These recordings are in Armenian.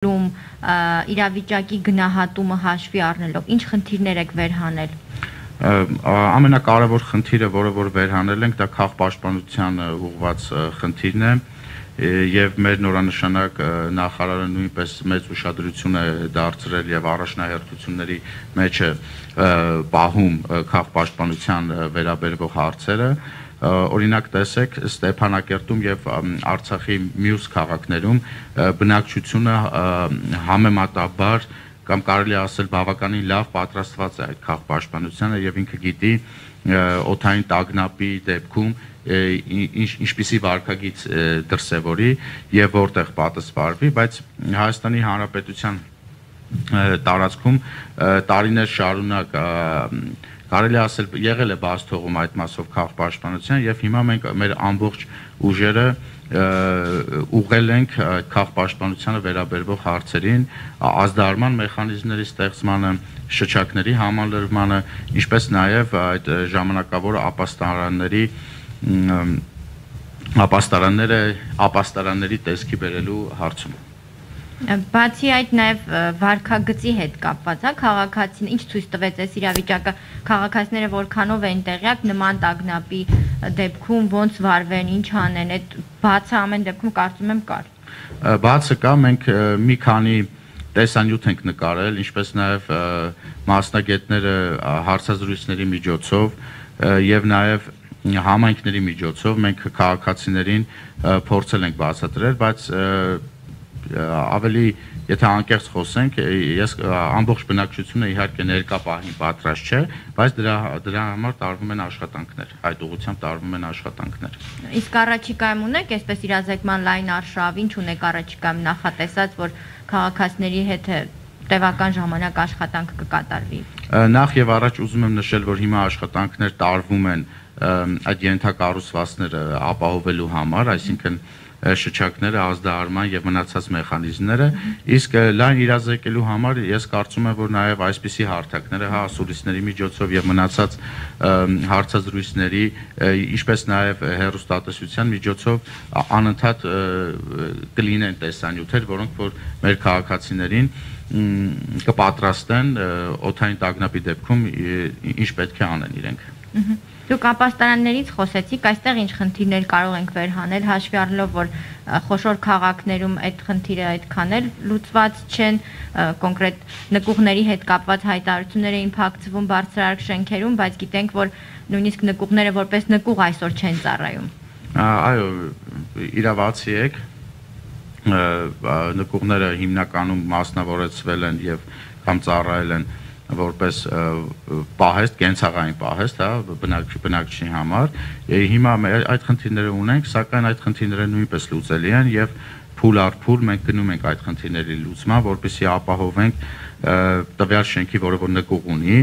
իրավիճակի գնահատումը հաշվի առնելով, ինչ խնդիրներ եք վերհանել։ Ամենակարևոր խնդիրը, որը որ վերհանել ենք, դա քաղաքապաշտպանության ուղղված խնդիրն է, եւ մեր նորանշանակ նախարարը նույնպես մեծ ուշադրություն է դարձրել եւ առաջնահերթությունների մեջ է պահում քաղաքապաշտպանության վերաբերող հարցերը։ Օրինակ տեսեք Ստեփանակերտում եւ Արցախի մյուս քաղաքներում բնակչությունը համեմատաբար կամ կարելի ասել բավականին լավ պատրաստված է այդ քաղաքապաշտպանությանը եւ ինքը գիտի օդային տագնապի դեպքում ինչպիսի վարքագիծ դրսևորի եւ որտեղ պատասխանվի, բայց Հայաստանի Հանրապետության տարածքում տարիներ շարունակ կարելի ասել եղել է բաց թողում այդ մասով քաղաքապաշտպանության եւ հիմա մենք մեր ամբողջ ուժերը ուղղել ենք քաղաքապաշտպանությանը վերաբերող հարցերին, ազդարման մեխանիզմների ստեղծմանը, շչակների համալրմանը, ինչպես նաեւ այդ ժամանակավոր ապաստարանների տեսքի բերելու հարցում։ Բացի այդ նաև վարքագծի հետ կապված, քաղաքացին ինչ ցույց տվեց այս իրավիճակը, քաղաքացիները որքանով են տեղյակ նման տագնապի դեպքում ոնց վարվեն, ինչ անեն, այդ բացը ամեն դեպքում կարծում եմ կար։ Բացը կա, մենք մի քանի տեսանյութ ենք նկարել, ինչպես նաև մասնագետները հարցազրույցների միջոցով եւ նաև համայնքների միջոցով մենք քաղաքացիներին փորձել ենք բացատրել, բայց ավելի եթե անկեղծ խոսենք, ես ամբողջ բնակչությունը իհարկե ներկա պահին պատրաստ չէ, բայց դրա համար տարվում են աշխատանքներ, այդ ուղղությամբ տարվում են աշխատանքներ։ Իսկ առաջիկայում ունեք այսպես իրազեկման լայն արշավ, ինչ ունեք առաջիկայում նախատեսած, որ քաղաքացիների հետ տևական ժամանակ աշխատանք կկատարվի։ Նախ եւ առաջ ուզում եմ նշել, որ հիմա աշխատանքներ տարվում են այդ ենթակառուցվածքները ապահովելու համար, այսինքն շչակները, ազդարման եւ մնացած մեխանիզմները, իսկ լայն իրազեկելու համար ես կարծում եմ, որ նաեւ այսպիսի հարթակները, ասուլիսների միջոցով եւ մնացած հարցազրույցների, ինչպես նաեւ հեռուստատեսության միջոցով անընդհատ կլինեն տեսանյութեր, որոնք որ մեր քաղաքացիներին կպատրաստեն օդային տագնապի դեպքում ինչ պետք է անեն իրենք։ Դուք ապաստարաններից խոսեցիք, այստեղ ինչ խնդիրներ կարող ենք վերհանել, հաշվի առնելով, որ խոշոր քաղաքներում այդ խնդիրը այդքան էլ լուծված չեն, կոնկրետ նկուղների հետ կապված հայտարարություններ էին փակցվում բարձրարկ շենքերում, բայց գիտենք, որ նույնիսկ նկուղները որպես նկուղ այսօր չեն ծառայում։ Այո, իրավացի եք, նկուղները հիմնականում մասնավորեցվել են եւ կամ ծառայել են որպես պահեստ, կենցաղային պահեստ, բնակչի համար, հիմա այդ խնդիրները ունենք, սակայն այդ խնդիրները նույնպես լուծելի են եւ փուլ առ փուլ մենք գնում ենք այդ խնդիրների լուծման, որպեսզի ապահովենք տվյալ շենքի, որը որ նկուղ ունի,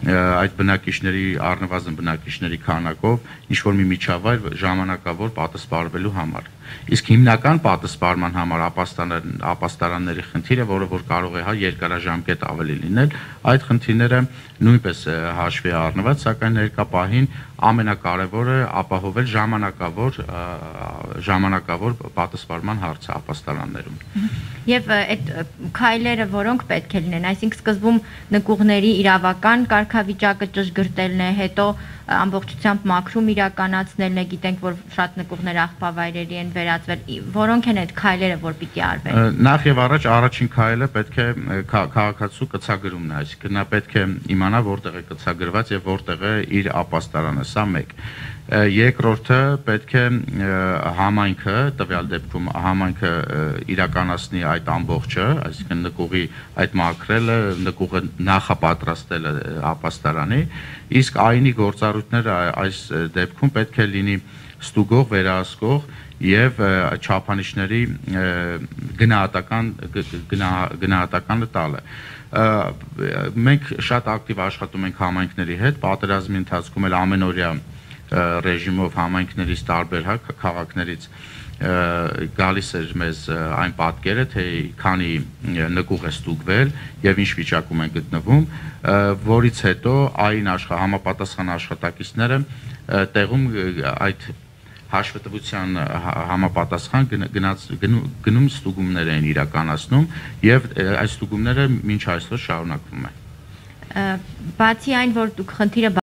այդ բնակիչների առնվազն բնակիչների քանակով ինչ որ մի միջավայր ժամանակավոր պատասխանվելու համար։ Իսկ հիմնական պատասխանման համար ապաստարանների խնդիրը, որը որ կարող է երկարաժամկետ ավելի լինել, այդ խնդիրները նույնպես հաշվի առնված, սակայն ներկա պահին ամենակարևորը ապահովել ժամանակավոր պատասխանման հարցը ապաստարաններում։ Եվ այդ քայլերը որոնք պետք է լինեն, այսինքն սկզբում նկուղների իրավական կարգավիճակը ճշգրտելն է, հետո ամբողջությամբ մաքրում իրականացնելն է, գիտենք, որ շատ նկուղներ աղբավայրերի են վերածվել, որոնք են այդ քայլերը, որ պիտի արվեն։ Նախ եւ առաջ առաջին քայլը պետք է քաղաքացու կցագրումն է, այսինքն նա պետք է իմանա որտեղ է կցագրված եւ որտեղ է իր ապաստարանը, սա մեկ։ Երկրորդը պետք է համայնքը, տվյալ դեպքում համայնքը իրականացնի այդ ամբողջը, այսինքն նկուղի այդ մաքրելը, նկուղը նախապատրաստելը ապաստարանի, իսկ այնի գործառույթները այս դեպքում պետք է լինի ստուգող, վերահսկող եւ չափանիշների գնահատականը տալը։ Մենք շատ ակտիվ աշխատում ենք համայնքների հետ, պատերազմի ընթացքում էլ ամենօրյա ռեժիմով համայնքներից տարբեր քաղաքներից գալիս էր մեզ այն պատկերը, թե քանի նկուղ է ստուգվել եւ ինչ վիճակում են գտնվում, որից հետո այն համապատասխան աշխատակիցները տեղում այդ հաշվետվության համապատասխան գնում ստուգումներ են իրականացնում եւ այս ստուգումները մինչ այսօր շարունակվում են։ Բացի այն, որ դուք խնդիրը